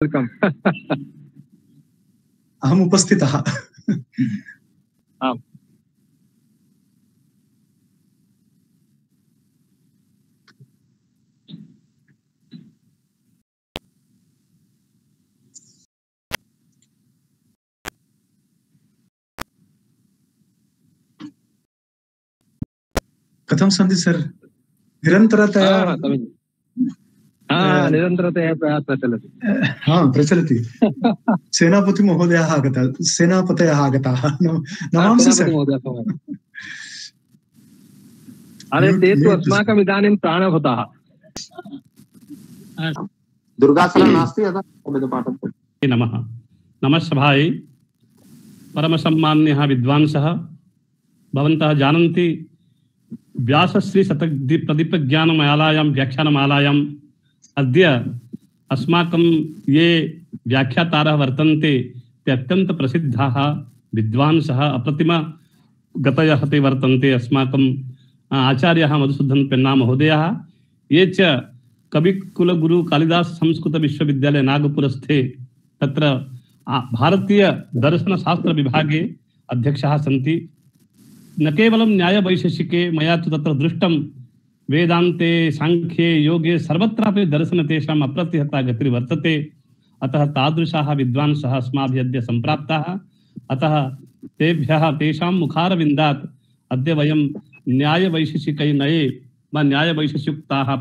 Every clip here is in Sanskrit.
वेलकम। अहम उपस्थितः। आम्। कथं सन्ति सर? निरन्तरतया निरन्तरतया प्रचलति। प्रचलति। सेनापति महोदयः आगतः, सेनापतयः आगताः। नमांसि सर। अरे ते तु अस्माकम् इदानीं प्राणभूताः। दुर्गासनं नास्ति अतः वेदपाठं। नमः। नमः सभायै परमसम्मान्यः विद्वांसः भवन्तः जानन्ति व्यासश्री शतप्रदीपज्ञानमालायां व्याख्यानमालायाम् अद्य अस्माकं ये व्याख्यातारः वर्तन्ते ते अत्यन्तप्रसिद्धाः विद्वांसः अप्रतिमगतयः ते वर्तन्ते। अस्माकं आचार्यः मधुसूदन पेन्ना महोदयः, ये च कविकुलगुरु कालिदास संस्कृत विश्वविद्यालय नागपुरस्थे तत्र भारतीय दर्शनशास्त्र विभागे अध्यक्षः सन्ति। न केवलं न्यायवैशेषिके मया तु तत्र दृष्टं वेदान्ते सांख्ये योगे सर्वत्रापि दर्शन तेषाम् अप्रतिहता गतिर्वर्तते। अतः तादृशाः विद्वांसः अस्माभिः अद्य सम्प्राप्ताः। अतः तेभ्यः तेषां मुखारविन्दात् अद्य वयं न्यायवैशेषिकैर्नये वा न्यायवैशेषिकोक्ताः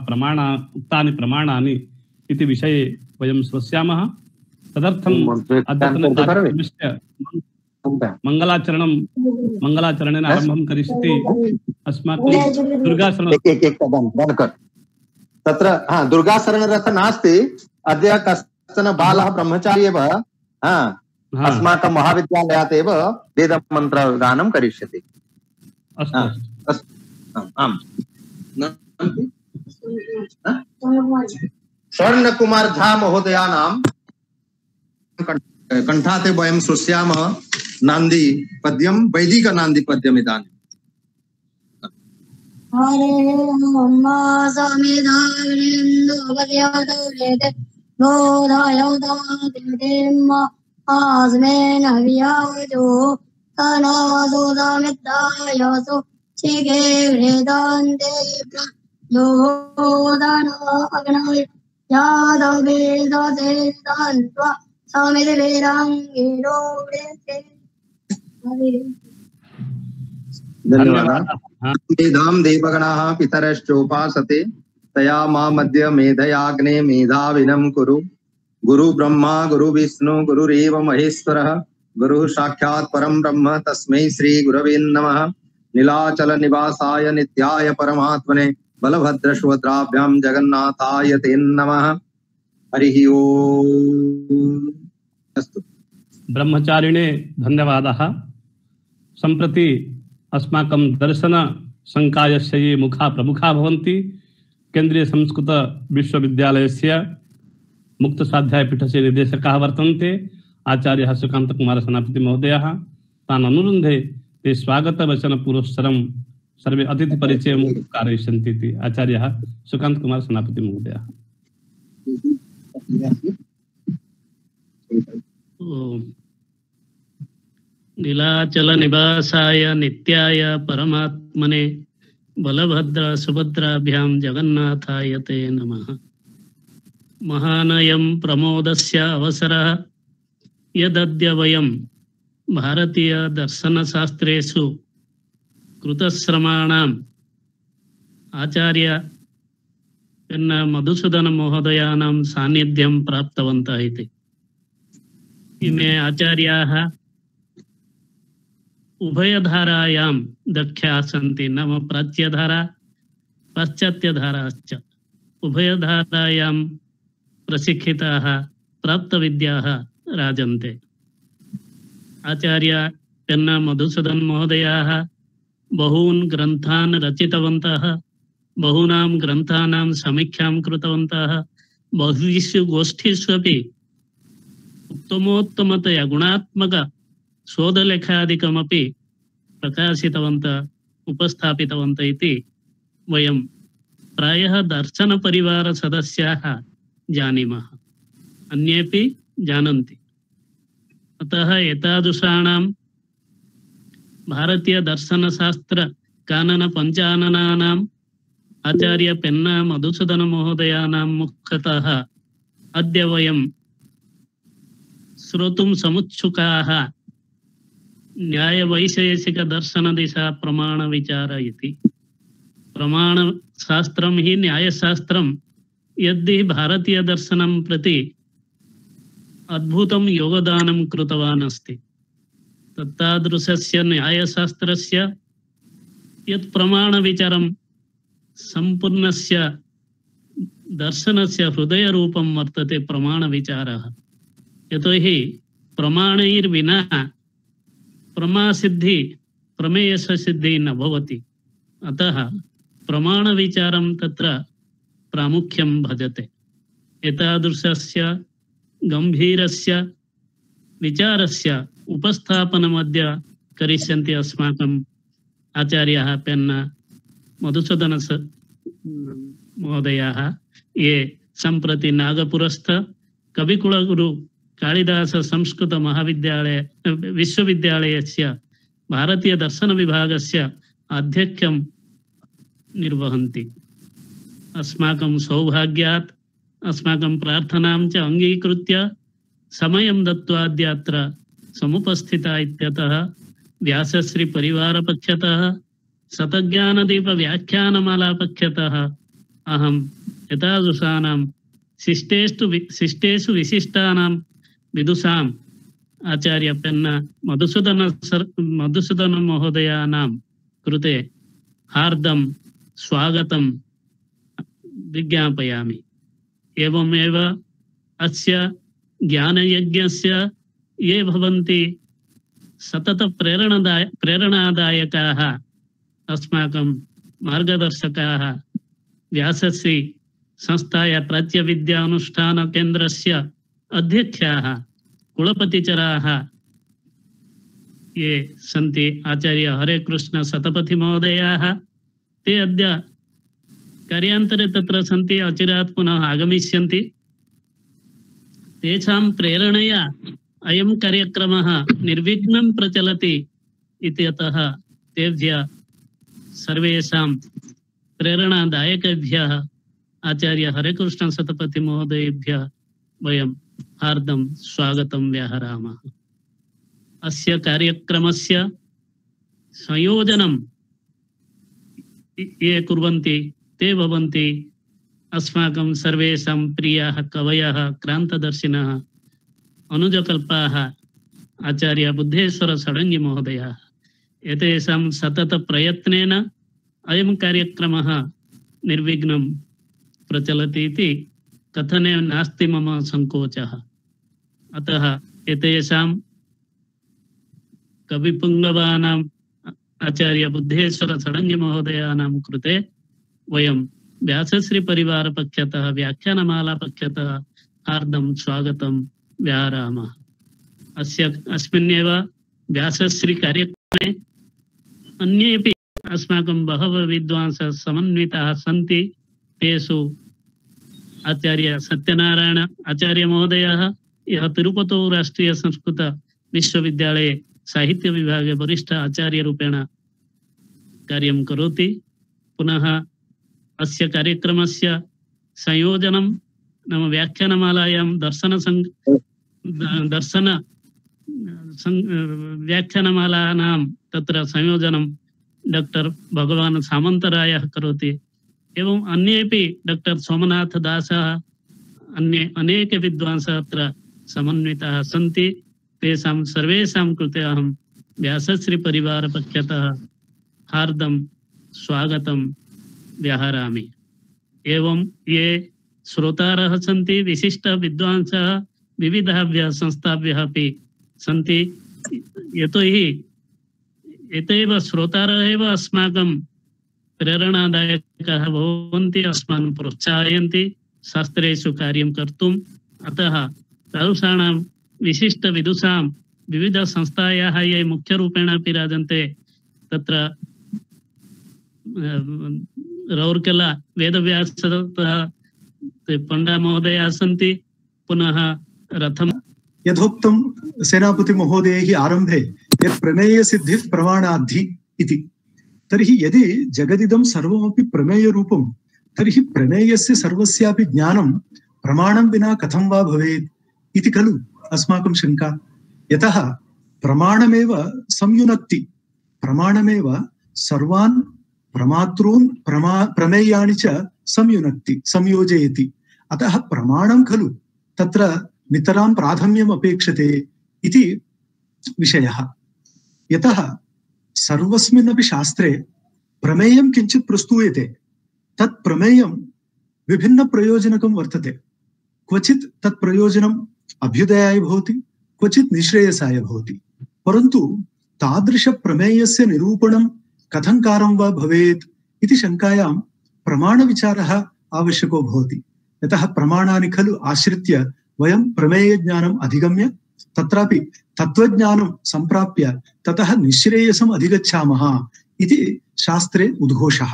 उक्तानि प्रमाणानि इति विषये वयं श्रोष्यामः। तदर्थम् अद्यतनकार्यक्रमस्य मंगलाचरणेन आरम्भं करिष्यति अस्माकं दुर्गाशरण। तत्र दुर्गाशरणरथ नास्ति। अद्य कश्चन बालः ब्रह्मचारी एव अस्माकं महाविद्यालयात् एव वेदमन्त्रगानं करिष्यति। अस्तु आम्। स्वर्णकुमार झा महोदयानां कंठाते वयं श्रोष्यामः नांदी पद्यं, वैदिक नांदी पद्यम् इदानीं। हरे ओम समिधाविन्दुपद्यवदौरेते बोधायौदातिम आस्मेन वियावजो तनासोदामिद्दायसो शिखे वेदान्ते योदान अग्नय यादवेदते दान्त्वा समिति वेदाङ्गिरो वेते। धन्यवादः। मेधां देवगणाः पितरश्चोपासते तया मामद्य मेधयाग्ने मेधाविनं कुरु। गुरु ब्रह्मा गुरु विष्णु गुरुरेव महेश्वरः गुरुः साक्षात् परं ब्रह्म तस्मै श्री गुरवे नमः। नीलाचल निवासाय नित्याय परमात्मने बलभद्र सुभद्राभ्यां जगन्नाथाय ते नमः। हरिः ओम्। अस्तु। ब्रह्मचारिणे धन्यवादः। सम्प्रति अस्माकं दर्शन संकायस्य ये मुखा प्रमुखा भवन्ति केन्द्रीय संस्कृत विश्वविद्यालयस्य मुक्तसाध्यायपीठस्य निर्देशकाः वर्तन्ते आचार्यः सुकान्त कुमार सेनापति महोदयः। तान् अनुरुन्धे ते स्वागतवचन पुरस्सरं सर्वे अतिथिपरिचयं कारयिष्यन्ति इति आचार्यः सुकान्त कुमार सेनापति महोदयः। नीलाचल निवासाय नित्याय परमात्मने बलभद्र सुभद्राभ्यां जगन्नाथाय ते नमः। महानयं प्रमोदस्य अवसरः यदद्य वयं भारतीय दर्शनशास्त्रेषु कृतश्रमाणाम् आचार्य पेन्ना मधुसूदन महोदयानां सान्निध्यं प्राप्तवन्तः इति। इमे आचार्याः उभयधारायां दक्षाः सन्ति, नाम प्राच्यधारा पाश्चात्यधाराश्च। उभयधारायां प्रशिक्षिताः प्राप्तविद्याः राजन्ते। आचार्य पेन्ना मधुसूदन महोदयाः बहून् ग्रन्थान् रचितवन्तः, बहूनां ग्रन्थानां समीक्षां कृतवन्तः, बहुषु गोष्ठीषु अपि उत्तमोत्तमतया गुणात्मक शोधलेखादिकमपि प्रकाशितवन्तः, उपस्थापितवन्तः इति वयं प्रायः दर्शनपरिवारसदस्याः जानीमः। अन्येपि जानन्ति। अतः एतादृशाणां भारतीयदर्शनशास्त्र कानन पञ्चाननानाम् आचार्य पेन्ना मधुसूदन महोदयानां मुखतः अद्य वयं श्रोतुं समुत्सुकाः न्यायवैशेषिकदर्शनदिशा प्रमाणविचार इति। प्रमाणशास्त्रं हि न्यायशास्त्रं यद्धि भारतीयदर्शनं प्रति अद्भुतं योगदानं कृतवान् अस्ति। तत्तादृशस्य न्यायशास्त्रस्य यत् प्रमाणविचारं सम्पूर्णस्य दर्शनस्य हृदयरूपं वर्तते प्रमाणविचारः। यतोहि प्रमाणैर्विना प्रमासिद्धि प्रमेयसिद्धिः न भवति। अतः प्रमाणविचारं तत्र प्रामुख्यं भजते। एतादृशस्य गम्भीरस्य विचारस्य उपस्थापनमद्य करिष्यन्ति अस्माकम् आचार्याः पेन्ना मधुसूदन महोदयाः, ये सम्प्रति नागपुरस्थ कविकुलगुरु कालिदास संस्कृत महाविद्यालय विश्वविद्यालयस्य भारतीय दर्शन विभागस्य आध्यक्ष्यं निर्वहन्ति। अस्माकं सौभाग्यात् अस्माकं प्रार्थनां च अङ्गीकृत्य समयं दत्त्वा अद्य समुपस्थिता इत्यतः व्यासश्री परिवारपक्षतः शतज्ञानदीप व्याख्यानमालापक्षतः अहं एतादृशानां शिष्टेषु विशिष्टानां विदुषाम् आचार्य पेन्ना मधुसूदन महोदयानां कृते हार्दं स्वागतं विज्ञापयामि। एवमेव अस्य ज्ञानयज्ञस्य ये भवन्ति सतत प्रेरणादायकाः अस्माकं मार्गदर्शकाः व्यासश्री संस्थाया प्राच्यविद्यानुष्ठान केन्द्रस्य अध्यक्षाः कुलपतिचराः ये सन्ति आचार्य हरेकृष्ण शतपथि महोदयाः, ते अद्य कार्यान्तरे तत्र सन्ति, अचिरात् पुनः आगमिष्यन्ति। तेषां प्रेरणया अयं कार्यक्रमः निर्विघ्नं प्रचलति इत्यतः तेभ्यः सर्वेषां प्रेरणादायकेभ्यः आचार्य हरेकृष्ण शतपथि महोदयेभ्यः वयं हार्दं स्वागतं व्याहरामः। अस्य कार्यक्रमस्य संयोजनं ये कुर्वन्ति ते भवन्ति अस्माकं सर्वेषां प्रियाः कवयः क्रान्तदर्शिनः अनुजकल्पाः आचार्य बुद्धेश्वर षडङ्गी महोदयाः। एतेषां सतत प्रयत्नेन अयं कार्यक्रमः निर्विघ्नं प्रचलति इति कथने नास्ति मम संकोचः। अतः एतेषां कविपुङ्गवानाम् आचार्य बुद्धेश्वर षडङ्गी महोदयानां कृते वयं व्यासश्री परिवारपक्षतः व्याख्यानमालापक्षतः हार्दं स्वागतं व्याहरामः। अस्मिन्नेव व्यासश्री कार्यक्रमे अन्येपि अस्माकं बहवः विद्वांसः समन्विताः सन्ति। तेषु आचार्य सत्यनारायण आचार्य महोदयः, यः तिरुपतौ राष्ट्रीय संस्कृत विश्वविद्यालये साहित्य विभागे वरिष्ठ आचार्यरूपेण कार्यं करोति। पुनः अस्य कार्यक्रमस्य संयोजनं नाम व्याख्यानमालायां दर्शन व्याख्यानमालानां तत्र संयोजनं डॉक्टर भगवान् सामन्तरायः करोति। एवं अन्येपि डॉक्टर सोमनाथ दासः, अन्ये अनेके विद्वांसः अत्र समन्विताः सन्ति। तेषां सर्वेषां कृते अहं व्यासश्री परिवारपक्षतः हार्दं स्वागतं व्याहरामि। एवं ये श्रोतारः सन्ति, विशिष्ट विद्वांसः विविधाभ्यः संस्थाभ्यः अपि सन्ति। यतोहि एतेव श्रोतारः एव अस्माकं प्रेरणादायकाः भवन्ति, अस्मान् प्रोत्साहयन्ति शास्त्रेषु कार्यं कर्तुम्। अतः तादृशाणां विशिष्ट विदुषां विविधसंस्थायाः ये मुख्यरूपेण अपि राजन्ते, तत्र रौर्केला वेदव्यासतः पण्डा महोदयाः सन्ति, पुनः रथम यथोक्तं सेनापति महोदयैः आरम्भे यत् प्रमेयसिद्धिः प्रमाणाद्धि इति। तर्हि यदि जगदिदं सर्वमपि प्रमेयरूपं तर्हि प्रमेयस्य सर्वस्यापि ज्ञानं प्रमाणं विना कथं वा भवेत् इति खलु अस्माकं शङ्का। यतः प्रमाणमेव संयुनक्ति, प्रमाणमेव सर्वान् प्रमातॄन् प्रमेयाणि च संयुनक्ति संयोजयति। अतः प्रमाणं खलु तत्र नितरां प्राधान्यम् अपेक्षते इति विषयः। यतः सर्वस्मिन्नपि शास्त्रे प्रमेयं किञ्चित् प्रस्तूयते, तत् प्रमेयं विभिन्नप्रयोजनकं वर्तते। क्वचित् तत् प्रयोजनम् अभ्युदयाय भवति, क्वचित् निःश्रेयसाय भवति। परन्तु तादृशप्रमेयस्य निरूपणं कथंकारं वा भवेत् इति शङ्कायां प्रमाणविचारः आवश्यको भवति। यतः प्रमाणानि खलु आश्रित्य वयं प्रमेयज्ञानम् अधिगम्य तत्रापि तत्त्वज्ञानं सम्प्राप्य ततः निःश्रेयसम् अधिगच्छामः इति शास्त्रे उद्घोषः।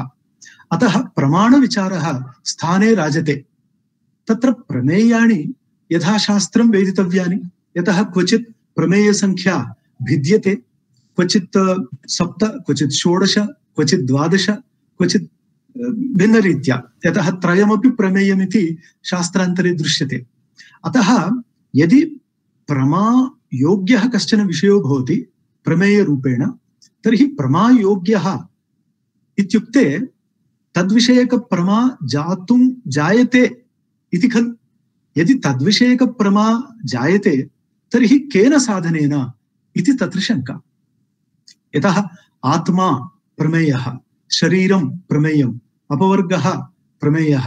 अतः प्रमाणविचारः स्थाने राजते। तत्र प्रमेयाणि यथाशास्त्रं वेदितव्यानि। यतः क्वचित् प्रमेयसङ्ख्या भिद्यते, क्वचित् 7, क्वचित् 16, क्वचित् 12, क्वचित् भिन्नरीत्या। यतः त्रयमपि प्रमेयमिति शास्त्रान्तरे दृश्यते। अतः यदि प्रमायोग्यः कश्चन विषयो भवति प्रमेयरूपेण, तर्हि प्रमायोग्यः इत्युक्ते तद्विषयकप्रमा जातुं जायते इति खलु। यदि तद्विषयकप्रमा जायते तर्हि केन साधनेन इति तत्र शङ्का। यतः आत्मा प्रमेयः, शरीरं प्रमेयम्, अपवर्गः प्रमेयः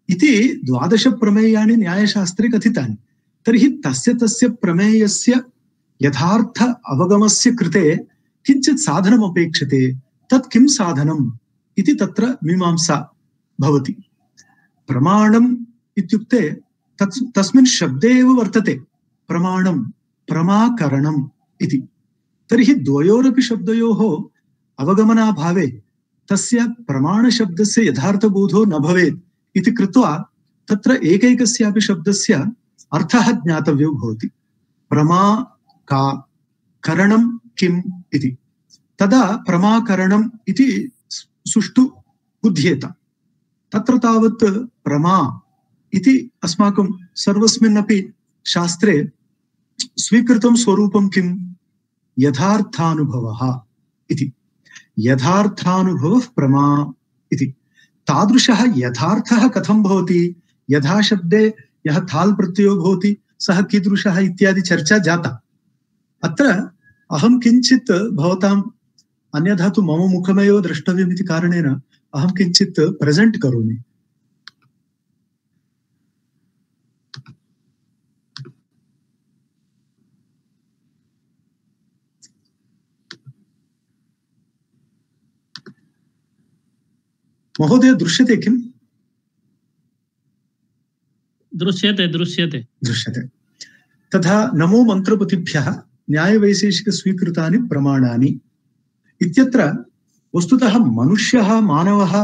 इति 12 प्रमेयानि न्यायशास्त्रे कथितानि। तर्हि तस्य प्रमेयस्य यथार्थ अवगमस्य कृते किञ्चित् साधनम् अपेक्षते। तत् किं साधनम् इति तत्र मीमांसा भवति। प्रमाणम् इत्युक्ते तस्मिन् शब्दे एव वर्तते प्रमाणं प्रमाकरणम् इति। तर्हि द्वयोरपि शब्दयोः अवगमनाभावे तस्य प्रमाणशब्दस्य यथार्थबोधो न भवेत् इति कृत्वा तत्र एकैकस्यापि शब्दस्य अर्थः ज्ञातव्यो भवति। प्रमा का करणं किम् इति, तदा प्रमाकरणम् इति सुष्ठु बुध्येत। तत्र तावत् प्रमा इति अस्माकं सर्वस्मिन्नपि शास्त्रे स्वीकृतं स्वरूपं किं? यथार्थानुभवः इति। यथार्थानुभवः प्रमा इति। तादृशः यथार्थः कथं भवति? यथाशब्दे यः थाल् प्रत्ययो भवति सः कीदृशः इत्यादि चर्चा जाता। अत्र अहं किञ्चित् भवताम्, अन्यथा तु मम मुखमेव द्रष्टव्यम् इति कारणेन अहं किञ्चित् प्रेजेंट करोमि। महोदय दृश्यते किम्? दृश्यते। दृश्यते। तथा नमो मंत्रपतिभ्यः न्यायवैशेषिकस्वीकृतानि प्रमाणानि इत्यत्र वस्तुतः मनुष्यः मानवः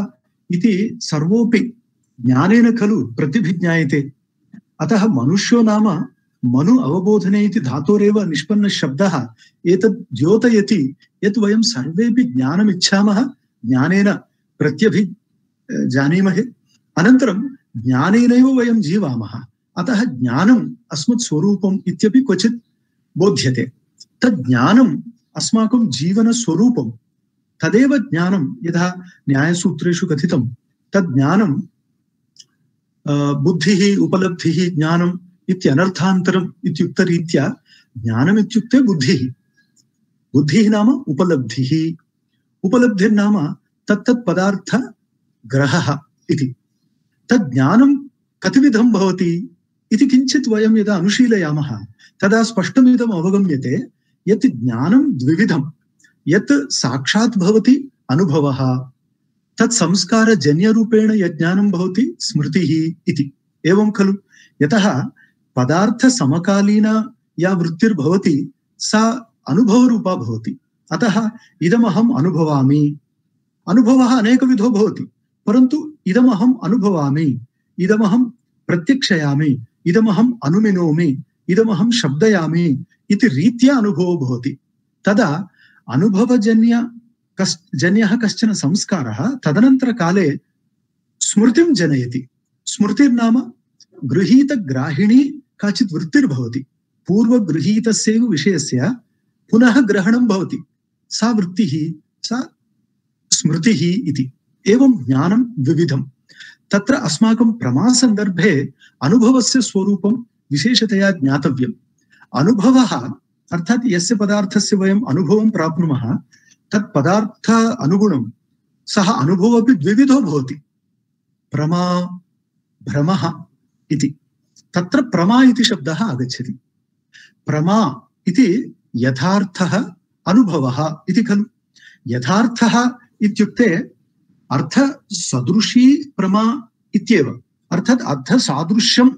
इति सर्वोऽपि ज्ञानेन खलु प्रतिभिज्ञायते। अतः मनुष्यो नाम मनु अवबोधने इति धातोरेव निष्पन्नः शब्दः एतद् द्योतयति यत् वयं सर्वेपि ज्ञानमिच्छामः, ज्ञानेन प्रत्यभिजानीमहे, अनन्तरं ज्ञानेनैव वयं जीवामः। अतः ज्ञानम् अस्मत् स्वरूपम् इत्यपि क्वचित् बोध्यते। तद् ज्ञानम् अस्माकं जीवनस्वरूपं, तदेव ज्ञानं यथा न्यायसूत्रेषु कथितं। तद् ज्ञानं बुद्धिः उपलब्धिः ज्ञानम् इत्यनर्थान्तरम् इत्युक्तरीत्या ज्ञानम् इत्युक्ते बुद्धिः, बुद्धिः नाम उपलब्धिः, उपलब्धिर्नाम तत्तत् पदार्थ ग्रहः इति। तद् ज्ञानं कतिविधं भवति इति किञ्चित् वयं यदा अनुशीलयामः तदा स्पष्टमिदम् अवगम्यते यत् ज्ञानं द्विविधं। यत् साक्षात् भवति अनुभवः, तत् संस्कारजन्यरूपेण यज्ञानं भवति स्मृतिः इति। एवं खलु? यतः पदार्थसमकालीना या वृत्तिर्भवति सा अनुभवरूपा भवति। अतः इदमहम् अनुभवामि, अनुभवः अनेकविधो भवति, परन्तु इदमहम् अनुभवामि, इदमहं प्रत्यक्षयामि, इदमहम् अनुमिनोमि, इदमहं शब्दयामि इति रीत्या अनुभवो भवति। तदा अनुभवजन्यः कश्चन संस्कारः तदनन्तरकाले स्मृतिं जनयति। स्मृतिर्नाम गृहीतग्राहिणी काचित् वृत्तिर्भवति। पूर्वगृहीतस्यैव विषयस्य पुनः ग्रहणं भवति। सा वृत्तिः, सा स्मृतिः इति। एवं ज्ञानं विविधं। तत्र अस्माकं प्रमासन्दर्भे अनुभवस्य स्वरूपं विशेषतया ज्ञातव्यम्। अनुभवः अर्थात् यस्य पदार्थस्य वयम् अनुभवं प्राप्नुमः तत् पदार्थ अनुगुणं सः अनुभवः अपि द्विविधो भवति। प्रमा भ्रमः इति। तत्र प्रमा इति शब्दः आगच्छति। प्रमा इति यथार्थः अनुभवः इति खलु। यथार्थः इत्युक्ते अर्थसदृशी प्रमा इत्येव। अर्थात् अर्थसादृश्यं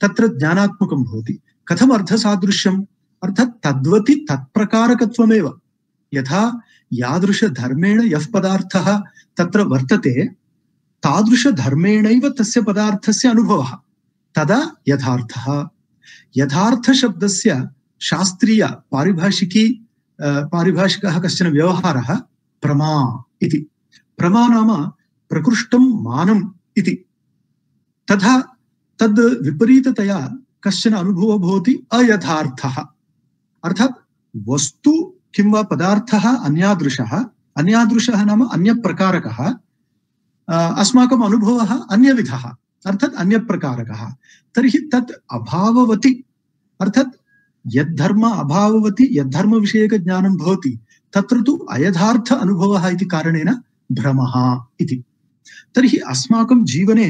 तत्र ज्ञानात्मकं भवति। कथम् अर्थसादृश्यम्? अर्थात् तद्वति तत्प्रकारकत्वमेव। यथा यादृशधर्मेण यः पदार्थः तत्र वर्तते तादृशधर्मेणैव तस्य पदार्थस्य अनुभवः, तदा यथार्थः। यथार्थशब्दस्य शास्त्रीय पारिभाषिकः कश्चन व्यवहारः प्रमा इति। प्रमा नाम प्रकृष्टं मानम् इति। तथा तद् विपरीततया कश्चन अनुभवो भवति अयथार्थः। अर्थात् वस्तु किंवा पदार्थः अन्यादृशः नाम अन्यप्रकारकः, अस्माकम् अनुभवः अन्यविधः अर्थात् अन्यप्रकारकः। तर्हि तत् अभाववति अर्थात् यद्धर्म अभाववति यद्धर्मविषयकज्ञानं भवति तत्र तु अयथार्थ अनुभवः इति कारणेन भ्रमः इति। तर्हि अस्माकं जीवने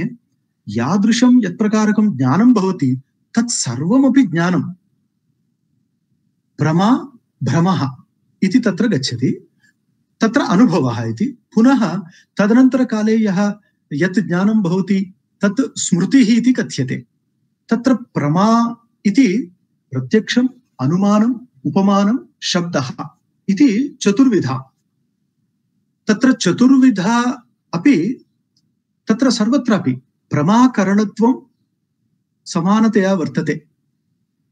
यादृशं यत्प्रकारकं ज्ञानं भवति तत् सर्वमपि ज्ञानं प्रमा भ्रमः इति तत्र गच्छति। तत्र अनुभवः इति। पुनः तदनन्तरकाले यत् ज्ञानं भवति तत् स्मृतिः इति कथ्यते। तत्र प्रमा इति प्रत्यक्षम्, अनुमानम्, उपमानं, शब्दः इति चतुर्विधा। तत्र चतुर्विधा अपि तत्र सर्वत्रापि प्रमाकरणत्वं समानतया वर्तते।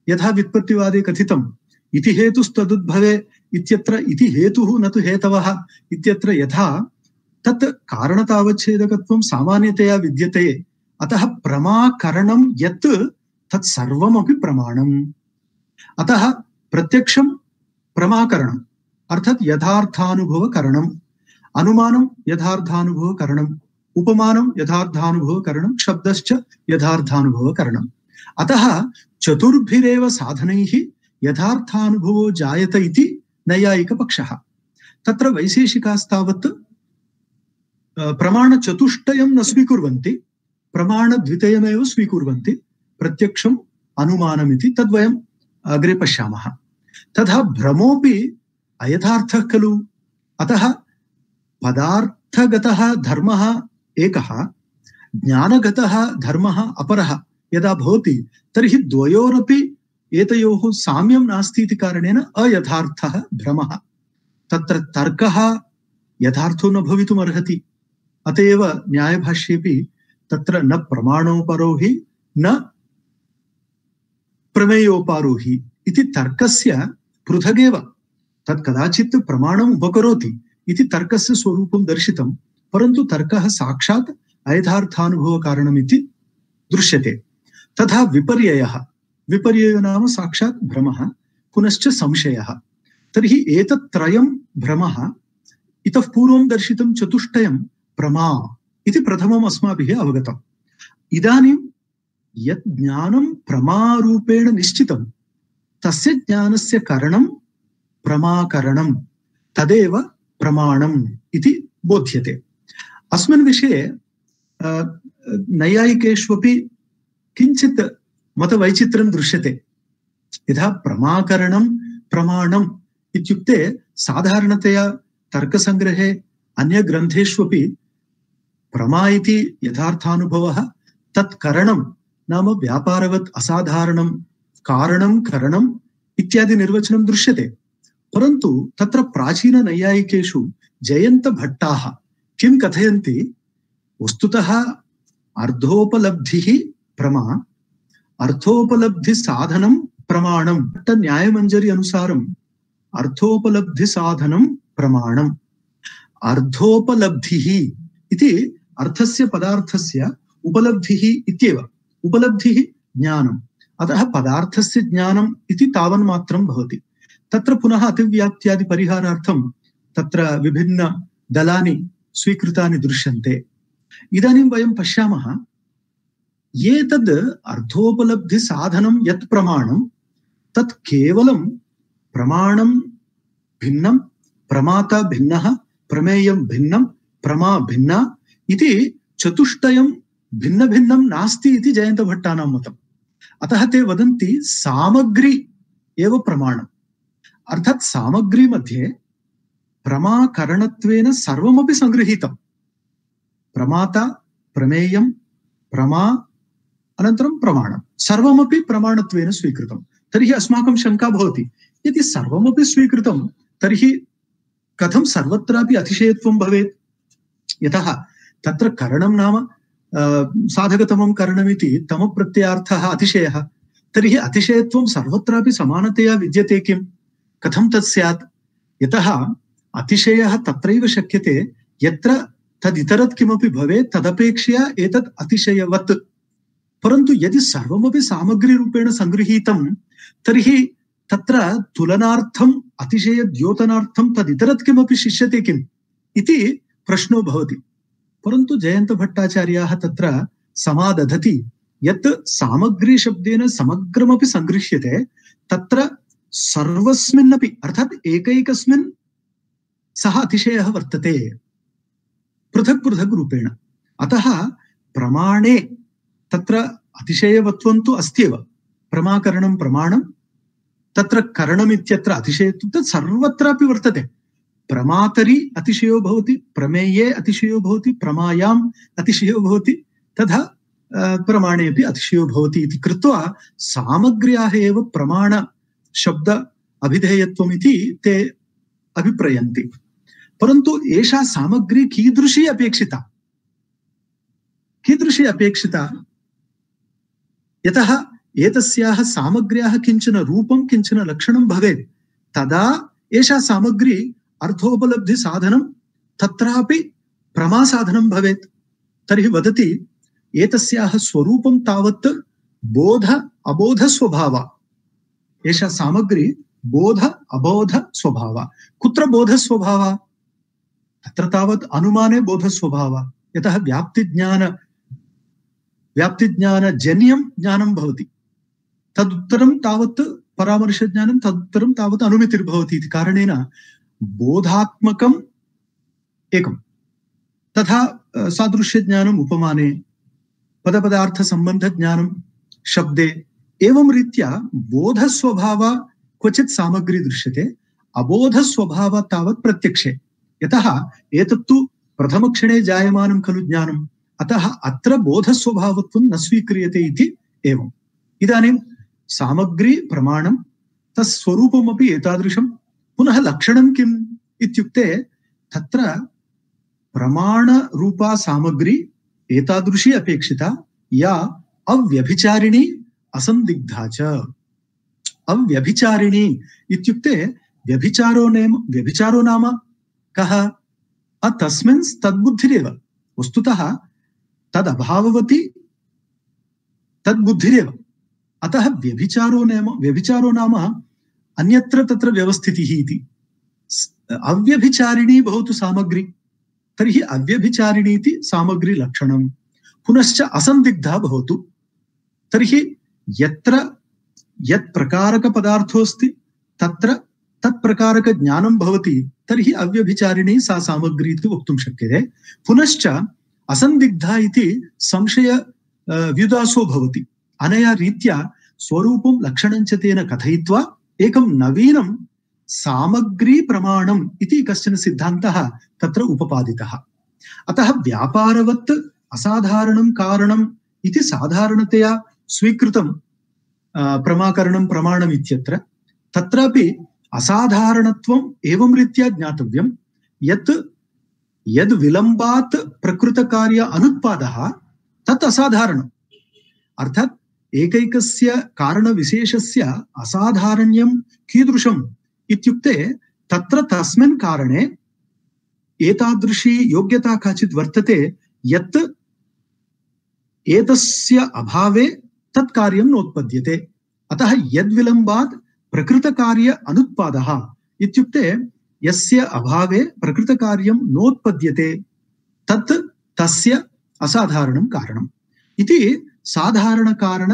यथा व्युत्पत्तिवादे कथितम् इति हेतुस्तदुद्भवे इत्यत्र इति हेतुः न तु हेतवः इत्यत्र यथा तत् कारणतावच्छेदकत्वं सामान्यतया विद्यते, अतः प्रमाकरणं यत् तत् सर्वमपि प्रमाणम्। अतः प्रत्यक्षं प्रमाकरणम् अर्थात् यथार्थानुभवकरणम्, अनुमानं यथार्थानुभवकरणम्, उपमानं यथार्थानुभवकरणं, शब्दश्च यथार्थानुभवकरणम्। अतः चतुर्भिरेव साधनैः यथार्थानुभवो जायत इति नैयायिकपक्षः। तत्र वैशेषिकास्तावत् प्रमाणचतुष्टयं न स्वीकुर्वन्ति, प्रमाणद्वितयमेव स्वीकुर्वन्ति, प्रत्यक्षम् अनुमानमिति। तद्वयम् अग्रे पश्यामः। तथा भ्रमोऽपि अयथार्थः खलु। अतः पदार्थगतः धर्मः एकः, ज्ञानगतः धर्मः अपरः यदा भवति तर्हि द्वयोरपि एतयोः साम्यं नास्ति इति कारणेन अयथार्थः भ्रमः। तत्र तर्कः यथार्थो न भवितुमर्हति। अत एव न्यायभाष्येपि तत्र न प्रमाणोपरो हि न प्रमेयोपारो हि इति तर्कस्य पृथगेव तत् कदाचित् प्रमाणम् उपकरोति इति तर्कस्य स्वरूपं दर्शितं, परन्तु तर्कः साक्षात् अयथार्थानुभवकारणमिति दृश्यते। तथा विपर्ययो नाम साक्षात् भ्रमः, पुनश्च संशयः। तर्हि एतत्त्रयं भ्रमः। इतः पूर्वं दर्शितं चतुष्टयं प्रमा इति प्रथमम् अस्माभिः अवगतम्। इदानीं यत् ज्ञानं प्रमारूपेण निश्चितं तस्य ज्ञानस्य करणं प्रमाकरणं, तदेव प्रमाणम् इति बोध्यते। अस्मिन् विषये नैयायिकेष्वपि किञ्चित् मतवैचित्र्यं दृश्यते। यथा प्रमाकरणं प्रमाणम् इत्युक्ते साधारणतया तर्कसङ्ग्रहे अन्यग्रन्थेष्वपि प्रमा इति यथार्थानुभवः, तत्करणं नाम व्यापारवत् असाधारणं कारणं करणम् इत्यादि निर्वचनं दृश्यते। परन्तु तत्र प्राचीननैयायिकेषु जयन्तभट्टाः किं कथयन्ति, वस्तुतः अर्धोपलब्धिः प्रमा, अर्थोपलब्धि साधनं प्रमाणं न्यायमंजरी अनुसारम् अर्थोपलब्धि साधनं प्रमाणम् अर्धोपलब्धिः इति अर्थस्य पदार्थस्य उपलब्धिः इत्येव उपलब्धिः ज्ञानम् अतः पदार्थस्य ज्ञानम् इति तावन्मात्रं भवति तत्र पुनः अतिव्याप्त्यादि परिहारार्थं तत्र विभिन्न दलानि स्वीकृतानि दृश्यन्ते इदानीं वयं पश्यामः एतद् अर्थोपलब्धि साधनं यत् प्रमाणं तत् केवलं प्रमाणं भिन्नं प्रमाता भिन्नः प्रमेयं भिन्नं प्रमा भिन्ना इति चतुष्टयं भिन्न भिन्नं नास्ति इति जयन्तभट्टानां मतम् अतः ते वदन्ति सामग्री एव प्रमाणम् अर्थात् सामग्री मध्ये प्रमाकरणत्वेन सर्वमपि संगृहीतं प्रमाता प्रमेयं प्रमा अनन्तरं प्रमाणं सर्वमपि प्रमाणत्वेन स्वीकृतं तर्हि अस्माकं शङ्का भवति यदि सर्वमपि स्वीकृतं तर्हि कथं सर्वत्रापि अतिशयत्वं भवेत् यतः तत्र करणं नाम साधकतमं करणमिति तमप्रत्ययार्थः अतिशयः तर्हि अतिशयत्वं सर्वत्रापि समानतया विद्यते किं कथं तत् स्यात् यतः अतिशयः तत्रैव शक्यते यत्र तदितरत् किमपि भवेत् तदपेक्षया एतत् अतिशयवत् परन्तु यदि सर्वमपि सामग्रीरूपेण संगृहीतं तर्हि तत्र तुलनार्थम् अतिशयद्योतनार्थं तदितरत् किमपि शिष्यते किम् इति प्रश्नो भवति परन्तु जयन्तभट्टाचार्याः तत्र समादधति यत् सामग्री शब्देन समग्रमपि संगृह्यते तत्र सर्वस्मिन्नपि अर्थात् एकैकस्मिन् सः अतिशयः वर्तते पृथक् पृथक् रूपेण अतः प्रमाणे तत्र अतिशयवत्वं तु अस्त्येव प्रमाकरणं प्रमाणं तत्र करणमित्यत्र अतिशयत्वं तत् सर्वत्रापि वर्तते प्रमातरि अतिशयो भवति प्रमेये अतिशयो भवति प्रमायाम् अतिशयो भवति तथा प्रमाणेपि अतिशयो भवति इति कृत्वा सामग्र्याः एव प्रमाण शब्द अभिधेयत्वम् इति ते अभिप्रयन्ति परन्तु एषा सामग्री कीदृशी अपेक्षिता यतः एतस्याः सामग्र्याः किञ्चन रूपं किञ्चन लक्षणं भवेत् तदा एषा सामग्री अर्थोपलब्धि साधनं तत्रापि प्रमासाधनं भवेत् तर्हि वदति एतस्याः स्वरूपं तावत् बोध अबोध स्वभाव एषा सामग्री बोध अबोध स्वभाव कुत्र बोध स्वभाव तत्र तावत् अनुमाने बोध स्वभाव यतः व्याप्तिज्ञानजन्यं ज्ञानं भवति तदुत्तरं तावत् परामर्शज्ञानं तदुत्तरं तावत् अनुमितिर्भवति इति कारणेन बोधात्मकम् एकं तथा सादृश्यज्ञानम् उपमाने पदपदार्थसम्बन्धज्ञानं शब्दे एवं रीत्या बोधस्वभाव क्वचित् सामग्री दृश्यते अबोधस्वभाव तावत् प्रत्यक्षे यतः एतत्तु प्रथमक्षणे जायमानं खलु ज्ञानम् अतः अत्र बोधस्वभावत्वं न स्वीक्रियते इति एवम् इदानीं सामग्री प्रमाणं तत्स्वरूपमपि एतादृशं पुनः लक्षणं किम् इत्युक्ते तत्र प्रमाणरूपा सामग्री एतादृशी अपेक्षिता या अव्यभिचारिणी असन्दिग्धा च अव्यभिचारिणी इत्युक्ते व्यभिचारो नाम कः तस्मिन् तद्बुद्धिरेव वस्तुतः तदभाववती तद्बुद्धिरेव अतः व्यभिचारो नाम अन्यत्र तत्र व्यवस्थितिः इति अव्यभिचारिणी भवतु सामग्री तर्हि अव्यभिचारिणी इति सामग्री लक्षणं पुनश्च असन्दिग्धा भवतु तर्हि यत्र यत् प्रकारक पदार्थोऽस्ति तत्र तत्प्रकारक ज्ञानं भवति तर्हि अव्यभिचारिणी सा सामग्री इति वक्तुं शक्यते पुनश्च असन्दिग्धा इति संशय व्युदासो भवति अनया रीत्या स्वरूपं लक्षणं च तेन कथयित्वा एकं नवीनं सामग्री प्रमाणम् इति कश्चन सिद्धान्तः तत्र उपपादितः अतः व्यापारवत् असाधारणं कारणम् इति साधारणतया स्वीकृतं प्रमाकरणं प्रमाणम् इत्यत्र तत्रापि असाधारणत्वम् एवं रीत्या ज्ञातव्यं यत् यद् विलम्बात् प्रकृतकार्य अनुत्पादः तत् असाधारणम् अर्थात् एकैकस्य कारणविशेषस्य असाधारण्यं कीदृशम् इत्युक्ते तत्र तस्मिन् कारणे एतादृशी योग्यता काचित् वर्तते यत् एतस्य अभावे तत् कार्यं नोत्पद्यते। अतः यद्विलम्बात् प्रकृतकार्य अनुत्पादः इत्युक्ते यस्य अभावे प्रकृतकार्यं नोत्पद्यते तत् तस्य असाधारणं कारणम् इति साधारणकारण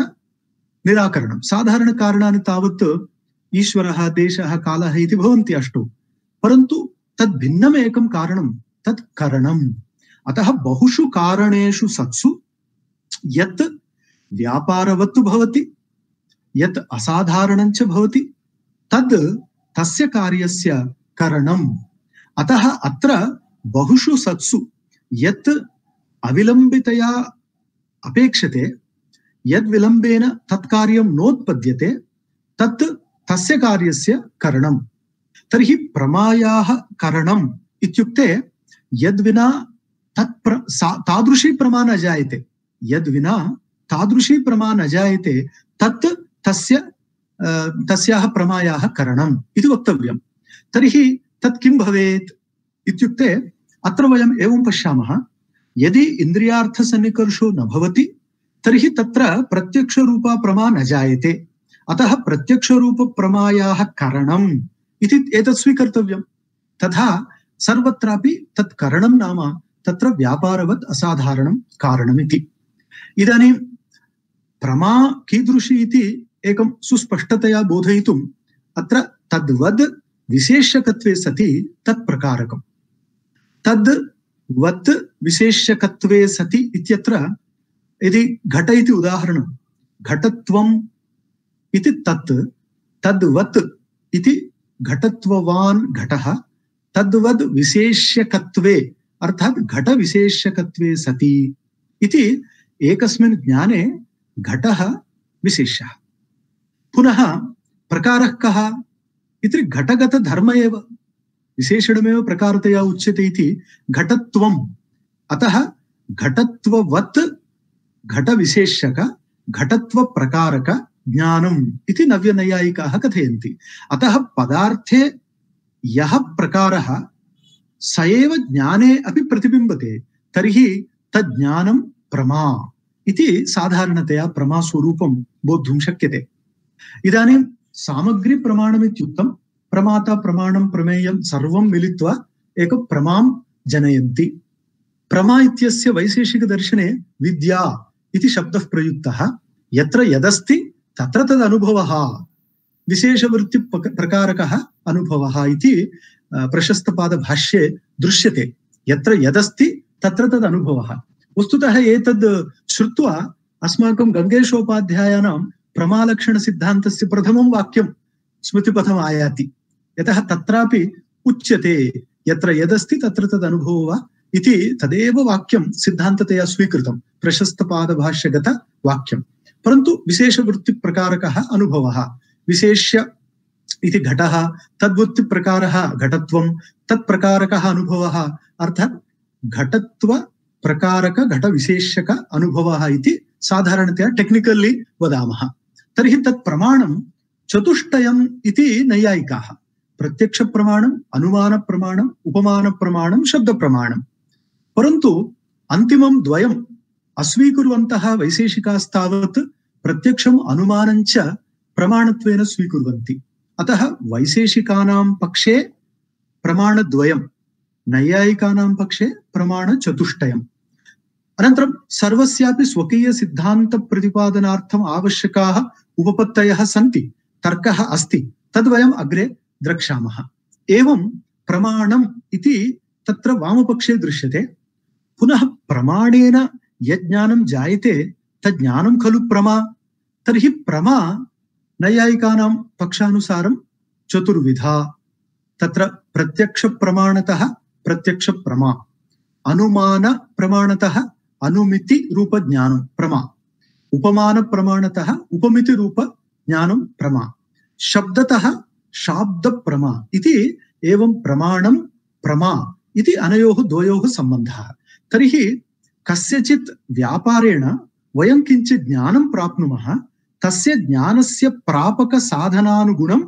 निराकरणं। साधारणकारणानि तावत् ईश्वरः, देशः, कालः इति भवन्ति अष्टौ, परन्तु तद् भिन्नमेकं कारणं तत् करणम्। अतः बहुषु कारणेषु सत्सु यत् व्यापारवत् भवति, यत् असाधारणं च भवति, तद् तस्य कार्यस्य करणम्। अतः अत्र बहुषु सत्सु यत् अविलम्बितया अपेक्षते, यद् विलम्बेन तत् कार्यं नोत्पद्यते, तत् तस्य कार्यस्य करणम्। तर्हि प्रमायाः करणम् इत्युक्ते यद्विना तादृशी प्रमा न जायते, यद्विना तादृशी प्रमा न जायते तत् तस्याः प्रमायाः करणम् इति वक्तव्यम्। तर्हि तत् किं भवेत् इत्युक्ते अत्र वयम् एवं पश्यामः, यदि इन्द्रियार्थसन्निकर्षो न भवति तर्हि तत्र प्रत्यक्षरूपा प्रमा न जायते। अतः प्रत्यक्षरूपप्रमायाः करणम् इति एतत् स्वीकर्तव्यम्। तथा सर्वत्रापि तत् करणं नाम तत्र व्यापारवत् असाधारणं कारणमिति। इदानीं प्रमा कीदृशी इति एकं सुस्पष्टतया बोधयितुम् अत्र तद्वद् विशेष्यकत्वे सति तत् प्रकारकम्। तद्वत् विशेष्यकत्वे सति इत्यत्र यदि घट इति उदाहरणं, घटत्वम् इति तत्, तद्वत् इति घटत्ववान् घटः, तद्वद् विशेष्यकत्वे अर्थात् घटविशेष्यकत्वे सति इति एकस्मिन् ज्ञाने घटः विशेष्यः। पुनः प्रकारः कः इति घटगतधर्म एव, विशेषणमेव प्रकारतया उच्यते इति घटत्वम्। अतः घटत्ववत् घटविशेष्यक घटत्वप्रकारक ज्ञानम् इति नव्यनैयायिकाः कथयन्ति। अतः पदार्थे यः प्रकारः स एव ज्ञाने अपि प्रतिबिम्बते, तर्हि तज्ज्ञानं प्रमा इति साधारणतया प्रमास्वरूपं बोद्धुं शक्यते। इदानीं सामग्रीप्रमाणमित्युक्तं प्रमाता, प्रमाणं, प्रमेयं सर्वं मिलित्वा एक प्रमां जनयन्ति। प्रमा इत्यस्य वैशेषिकदर्शने विद्या इति शब्दः प्रयुक्तः। यत्र यदस्ति तत्र तदनुभवः, विशेषवृत्तिप्रकारकः अनुभवः इति प्रशस्तपादभाष्ये दृश्यते। यत्र यदस्ति तत्र तदनुभवः। वस्तुतः एतद् श्रुत्वा अस्माकं गङ्गेशोपाध्यायानां प्रमालक्षणसिद्धान्तस्य प्रथमं वाक्यं स्मृतिपथम् आयाति। यतः तत्रापि उच्यते यत्र यदस्ति तत्र तदनुभवो वा इति तदेव वाक्यं सिद्धान्ततया स्वीकृतं, प्रशस्तपादभाष्यगत वाक्यं। परन्तु विशेषवृत्तिप्रकारकः अनुभवः, विशेष्य इति घटः, तद्वृत्तिप्रकारः घटत्वं, तत्प्रकारकः अनुभवः अर्थात् घटत्वप्रकारक घटविशेष्यक अनुभवः इति साधारणतया टेक्निकली वदामः। तर्हि तत् प्रमाणं चतुष्टयम् इति नैयायिकाः, प्रत्यक्षप्रमाणम्, अनुमानप्रमाणम्, उपमानप्रमाणं, शब्दप्रमाणं। परन्तु अन्तिमं द्वयम् अस्वीकुर्वन्तः वैशेषिकास्तावत् प्रत्यक्षम् अनुमानञ्च प्रमाणत्वेन स्वीकुर्वन्ति। अतः वैशेषिकानां पक्षे प्रमाणद्वयं, नैयायिकानां पक्षे प्रमाणचतुष्टयम्। अनन्तरं सर्वस्यापि स्वकीयसिद्धान्तप्रतिपादनार्थम् आवश्यकाः उपपत्तयः सन्ति, तर्कः अस्ति, तद्वयम् अग्रे द्रक्ष्यामः। एवं प्रमाणम् इति तत्र वामपक्षे दृश्यते। पुनः प्रमाणेन यज्ञानं जायते तज्ज्ञानं खलु प्रमा। तर्हि प्रमा नैयायिकानां पक्षानुसारं चतुर्विधा। तत्र प्रत्यक्षप्रमाणतः प्रत्यक्षप्रमा, अनुमानप्रमाणतः अनुमितिरूपज्ञानं प्रमा, उपमानप्रमाणतः उपमितिरूपज्ञानं प्रमा, शब्दतः शाब्दप्रमा इति एवं प्रमाणं प्रमा इति अनयोः द्वयोः सम्बन्धः। तर्हि कस्यचित् व्यापारेण वयं किञ्चित् ज्ञानं प्राप्नुमः, तस्य ज्ञानस्य प्रापक साधनानुगुणं